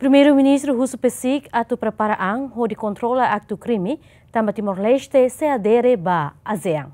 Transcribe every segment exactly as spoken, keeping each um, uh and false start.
Primeiru-Ministru husu PCIC atu prepara an hodi kontrola aktu krime, tanba Timor-Leste sei adere ba ASEAN.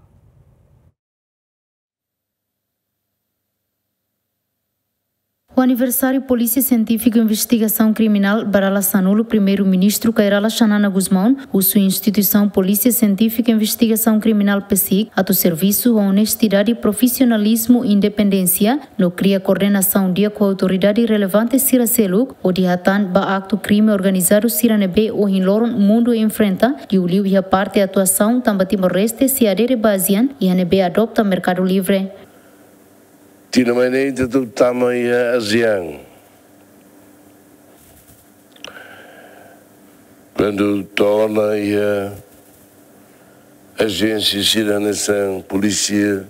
O aniversáriu Polísia Sientífika Investigasaun Kriminál ba dala sanulu, Primeiru-Ministru Kay Rala Xanana Gusmão husu instituisaun Polísia Sientífika Investigasaun Kriminál, PCIC, atu servisu ho onestidade, profisionalizmu, independénsia, no kria koordenasaun di'ak ho autoridade relevante sira seluk, hodi hatán ba aktu krime organizadu sira ne'ebé ohin loron mundu enfrenta, liuliu iha parte atuasaun tanba Timor-Leste sei adere ba ASEAN, iha ne'ebé adopta merkadu livre. Tinan mai ne'e ita atu tama iha ASEAN. Kuandu to'o ona iha ajénsia sira hanesan Polícia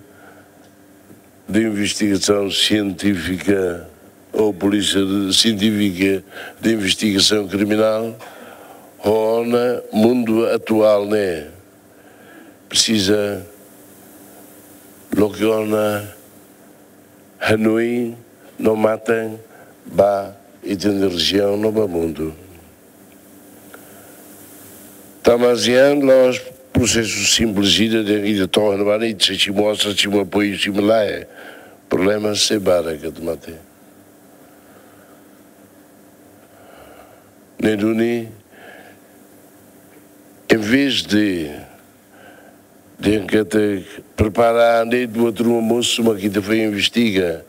de Investigação Científica ou Polícia de, Científica de Investigação Criminal, ho ona mundu atuál ne'e presiza loke ona hanoin no matan ba ita-nia rejiaun no ba mundu. Tama ASEAN la'ós prosesu simples ida dehan ita to'o ona ba ne'e, ita sei simu osan, simu apoiu, simu lae. Problema sei barak atu mate. Ne'e duni, em vez de, de ita prepara an de'it buat ruma mosu mak ita foin investiga,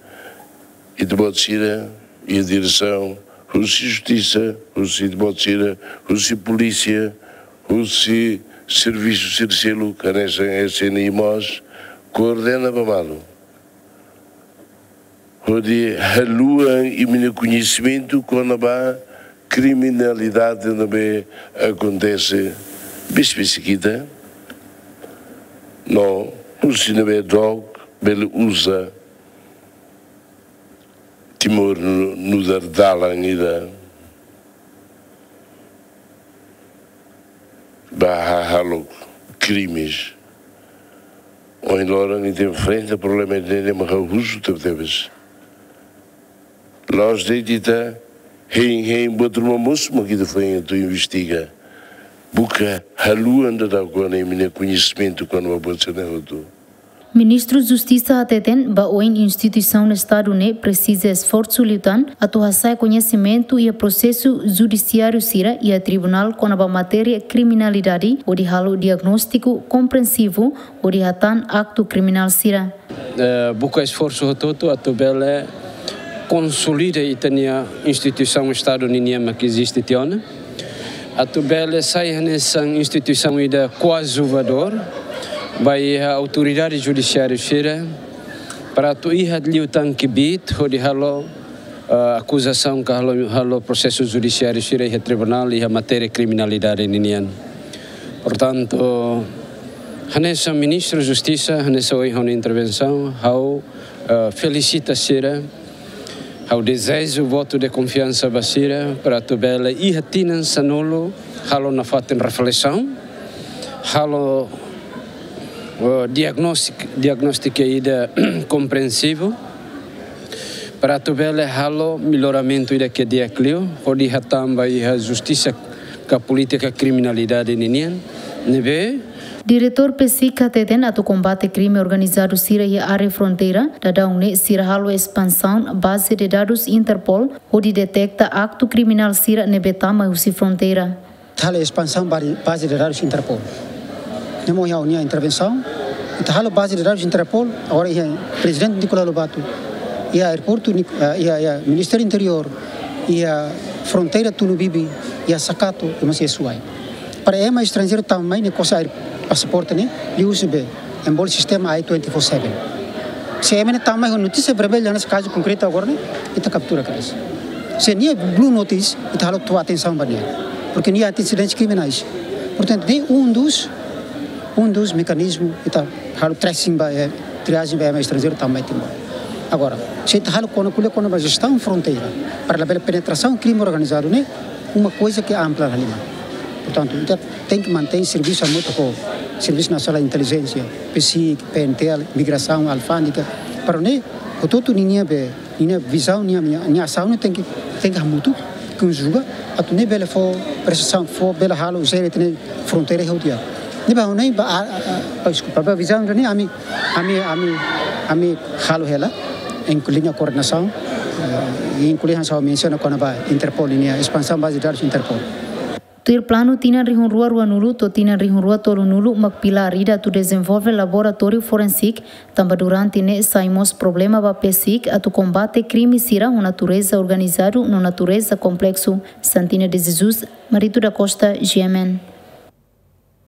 ita-boot sira iha diresaun, husi justisa, husi ita-boot sira, husi polísia, husi servisu sira seluk, hanesan S N I mós, koordena ba malu. Hodi haluha imi-nia koñesimentu kona-ba kriminalidade ne'ebé akontese besik-besik ita. No, husi ne'ebé dook bele uza Timor nu-, nu'udar dalan ida ba ha-, halo krimes. Ohin loron ita enfrenta problema ida-ne'e mak ha'u husu tebetebes. La'ós de'it ita hein-hein buat ruma mosu mak ita foin atu investiga. Buka haluha daudaun kona imi-nia koñesimentu kona-ba buat sira-ne'e hotu. Ministru Justisa hateten ba oin instituisaun Estadu ne'e presiza esforsu liután atu hasa'e koñesimentu iha prosesu judisiáriu sira iha tribunál kona-ba matéria kriminalidade, hodi halo diagnóstiku komprensivu, hodi hatán aktu kriminál sira. Eh, buka esforsu hotu-hotu atu bele konsolida ita-nia instituisaun Estadu ninian mak eziste tiha ona. Atu bele sai hanesan instituisaun ida koadjuvadór ba iha autoridade judisiáriu sira, para atu iha liután kbiit hodi halo, eh, akuzasaun ka halo, halo prosesu judisiáriu sira iha tribunál iha matéria kriminalidade ninian. Portantu, hanesan Ministru Justisa, hanesan ohin ha'u-nia intervensaun, ha'u, eh, felisita sira, ha'u dezeja votu de konfiansa ba sira, para atu bele iha tinan sanulu, halo nafatin reflesaun, halo, eh, diagnóstik-, diagnóstika ida komprensivu, para atu bele halo melloramentu ida ke di'ak liu, hodi hatán ba iha justisa ka polítika kriminalidade ninian, ne'ebé. Diretór PCIC hateten atu kombate krime organizadu sira iha área fronteira, daudaun ne'e sira halo espansaun baze de dadus Interpol, hodi deteta aktu kriminál sira ne'ebé tama husi fronteira. Halo espansaun baze, baze de dadus Interpol. Ne'e mós iha ha'u-nia intervensaun, ita halo baze de dadus Interpol, agora iha Prezidente Nicolau Lobato, iha aeroportu Nic-, eh, iha, iha Ministériu Interiór, iha fronteira Tunubibi, iha Sakato, i mós iha Suai. Para ema estranjeiru tama mai ne'e kose aer-, pasaporte ne'e, liuhusi be, ema bolu sistema I twenty-four seven. Se ema ne'e tama mai ho notísia vermellu, hanesan kazu konkretu agora ne'e, ita kaptura kedas. Se nia blue notice, ita halo tau atensaun ba nia. Porke nia iha antecedentes criminais. Portantu, ne'e um dos, um dos mecanismos, ita halo tracing ba, eh, triagem ba ema estranjeiru tama mai Timor. Agora, se ita halo kona, ko'alia kona-ba jestaun fronteira, para labele penetrasaun krime organizadu ne'e, uma coisa ke ampla la lima. Portantu, ita tenke mantein servisu hamutuk ho Servisu Nasionál Intelijénsia, PCIC, PNTL, Migrasaun, Alfándega, para ne'e, hotu-hotu ninia be, ninia vizaun, nia, nia, nia asaun ne'e tenke, tenke hamutuk. Konjuga atu ne'e bele fó presizaun, fó bele halo jere tiha ona fronteira iha nia. Ne'ebé ha'u ne'e ba, a, a, a, deskulpa, ba vizaun ne'e ami, ami, ami, ami halo hela, inklui koordenasaun, eh, inklui hanesan mensiona kona-ba Interpol ninia espansaun baze dadus Interpol. Tuir planu tinan rihun rua ruanulu to'o tinan rihun rua tolunulu mak pilár ida atu dezenvolve laboratóriu forensik, tanba durante ne'e sai mós problema ba PCIC atu kombate krime sira ho natureza organizadu no natureza kompleksu. Santina de Jesus, Marito da Costa, G M N.